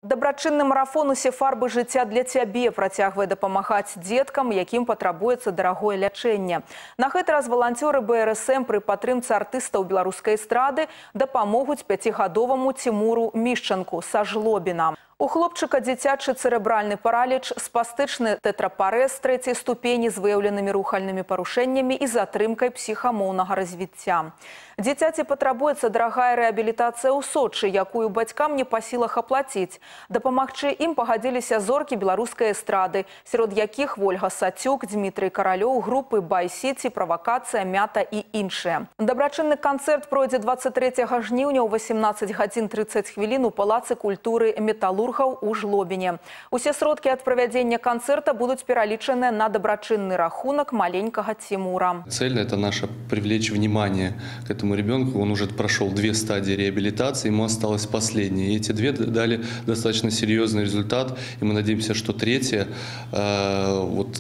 Дабрачынны марафон «Усе фарбы жыцця для цябе» працягвае дапамагаць дзеткам, якім патрабуецца дарагое лячэнне. На гэты раз валанцёры БРСМ пры падтрымцы артыстаў беларускай эстрады дапамогуць 5гадоваму Тимуру Мішчанку са Жлобіна. У хлопчыка дзіцячы цэрэбральны параліч, спастычны тэтрапарэз трэцяй ступені з выяўленымі рухальнымі парушэннямі і затрымкай псіхамоўнага развіцця. Дзіцяці патрабуецца дарагая рэабілітацыя ў Сочы, якую бацькам не па сілах аплаціць. Дапамагчы ім пагадзіліся зоркі беларускай эстрады, сярод якіх Вольга Сацюк, Дмітрый Каралёў, групы «Бай-Сіці», «Правакацыя», «Мята» і іншыя. Дабрачынны канцэрт пройдзе 23 жніўня ў 18:30 у Палацы культуры «Металлург» у Жлобине. Усе сродкі ад правядзення канцэрта будуць пералічаныя на дабрачынны рахунак маленькага Тимура. Цель – это наша привлечь внимание к этому ребенку. Он уже прошел 2 стадии реабилитации, ему осталось последняя. И эти 2 дали достаточно серьезный результат. И мы надеемся, что 3-я,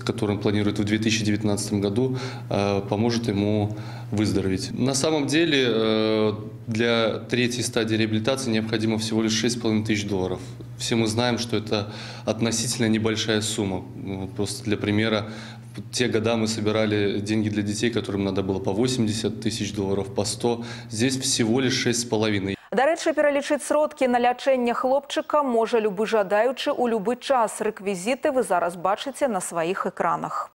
которую он планирует в 2019 году, поможет ему выздороветь. На самом деле для 3-й стадии реабилитации необходимо всего лишь $6500. Все мы знаем, что это относительно небольшая сумма. Просто для примера, в те года мы собирали деньги для детей, которым надо было по $80 000, по 100. Здесь всего лишь 6,5. Дарэчы, пералічыць сродкі на лячэнне хлопчыка можа любы жадаючы ў любы час. Рэквізіты вы зараз бачыце на сваіх экранах.